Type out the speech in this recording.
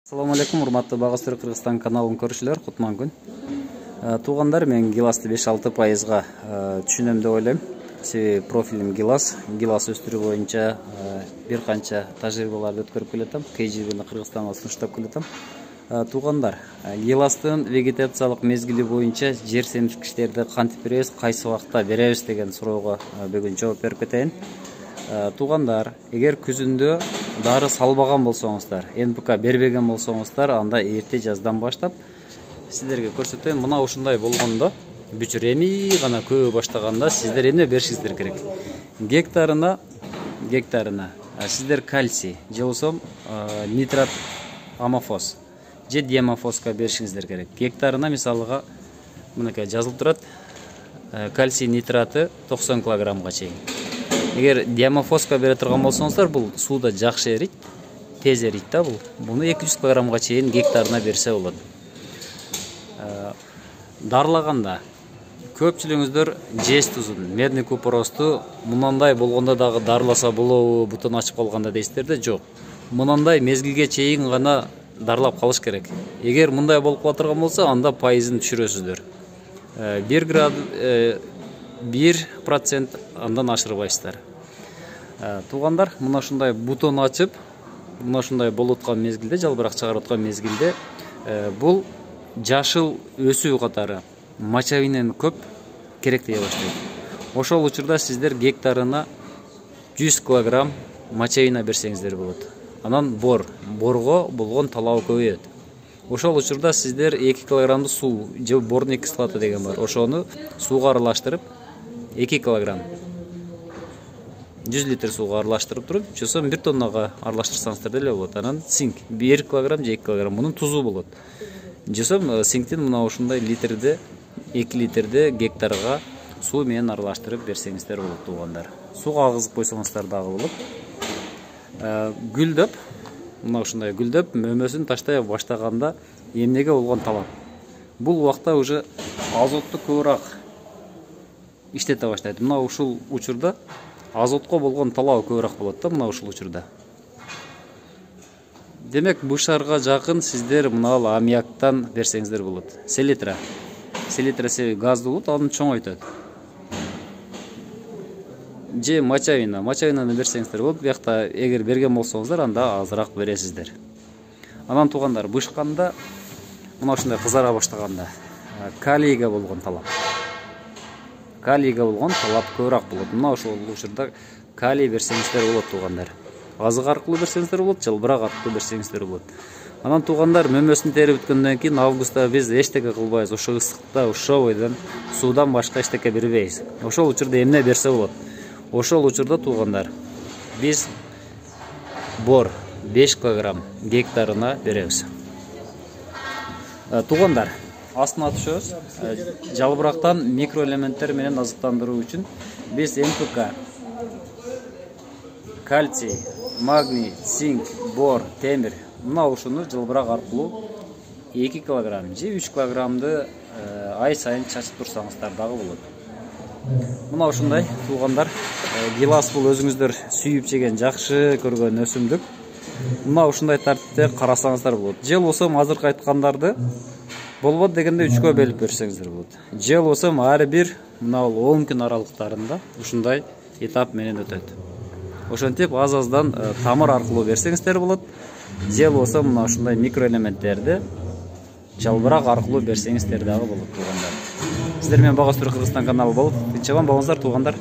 Assalamu alaikum, урматтуу Багыс Түрк Кыргызстан каналын көрүүчүлөр, кутман күн. Туугандар, мен гиласты 5-6% түшүнөм деп ойлойм. Себеби профилим гилас өстүрүү боюнча бир канча тажрыйбаларды өткөрүп келатам. KGB'ни Кыргызстанга сунуштап келатам. Туугандар, гиластын вегетациялык мезгили боюнча жер семирткичтерди кантип беребиз, кайсы убакта беребиз деген суроого бүгүн жооп берип кетейин. Туугандар, эгер күзүндө дары салбаган болсоңуздар, НПК бербеген болсоңуздар, анда эрте жаздан баштап сиздерге көрсөтөйм. Мына ушундай болгондо, бүчүр эми гана көбө баштаганда сиздер эмне беришиңиздер керек? Гектарына сиздер кальций, же болбосо нитрат амофос же диамофоска беришиңиздер керек. Гектарына мисалыга мынакей жазылып турат. Кальций нитраты 90 килограммга чейин. Эгер диамофоска бере турган болсоңуздар, бул сууда жакшы эрийт, тез эрийт да бул. Буну 200 килограммга чейин гектарына берсе болот. Дарлаганда көпчүлүгүңүздөр жез тузун, медный купоросту мынандай болгондо дагы дарласа болобу, бутон ачып калганда дейсиздер да, жок. Мынандай мезгилге чейин гана дарлап калыш керек. Эгер мындай болуп кала турган болсо, анда пайызын түшүрөсүздөр. 1% андан ашырбайсыздар. Туугандар, мына ушундай бутон ачып, мына ушундай болуп аткан мезгилде, жалбырак чыгарып аткан мезгилде, бул жашыл өсүү катары мочевинен көп керектей баштайт. Ошол учурда сиздер гектарына 100 килограмм мочевина берсеңиздер болот. Анан борго болгон талабы көбөйөт. Ошол учурда сиздер 2 килограммды суу же борный кислота деген бар. Ошону сууга аралаштырып 2 килограмм 100 литр сууга аралаштырып туруп, чөсөм 1 тоннага аралаштырсаңыздар деле болот. Анан цинк 1 килограмм же 2 килограмм, мунун тузу болот. Жесем синктин мына ушундай 2 литрди гектарга суу менен аралаштырып берсеңиздер болот, туугандар. Сууга агызып койсоңуздар дагы болот. Гүлдөп, мына ушундай гүлдөп, мөмөсүн таштай баштаганда эмнеге болгон талап? Бул убакта уже азотту көбүрөөк иштете баштайт. Мына ушул учурда азотко болгон талабы көбүрөөк болот да, мына ушул учурда. Демек, бышарга жакын сиздер мына аммиактан берсеңиздер болот. Селитра себеби газдуу болот, аны чоңойтот. Же мочевинаны берсеңиздер болот. Биякта эгер берген болсоңуздар, анда азыраак бересиздер. Анан туугандар, бышканда мына ушундай кызара баштаганда калийге болгон талап көбүрөөк болот. Мына ошол учурда калий берсеңиздер болот, туугандар. Азык аркылуу берсеңиздер болот, жалбырак аркылуу берсеңиздер болот. Анан туугандар, мөмөсүн терип бүткөндөн кийин августта биз эчтеке кылбайбыз. Ошо ысыкта, ушо бойдон суудан башка эчтеке бербейбиз. Ошол учурда эмне берсе болот? Ошол учурда туугандар, биз бор 5 килограмм гектарына беребиз. Туугандар, астына түшөбүз. Жалбырактан микроэлементтер менен азыктандыруу үчүн биз НПК, кальций, магний, цинк, бор, темир, мына ушуну жалбырак аркылуу 2 килограмм же 3 килограммды ай сайын чачып турсаңыздар дагы болот. Мына ушундай, туугандар, гилас бул өзүңүздөр сүйүп жеген, жакшы көргөн өсүмдүк. Мына ушундай тартипте карасаңыздар болот. Же болбосо азыркы айткандарды болбот дегенде 3кө бөлүп берсеңиздер болот. Же болбосо ар бир мына 10 күн аралыктарында ушундай этап менен өтөт. Ошентип аз-аздан тамыр аркылуу берсеңиздер болот. Же болбосо мына ушундай микроэлементтерди жалбырак аркылуу берсеңиздер дагы болот, туугандар. Сиздер менен Багыс Түрк Кыргызстан каналы болуп, тынчыган болуңуздар, туугандар.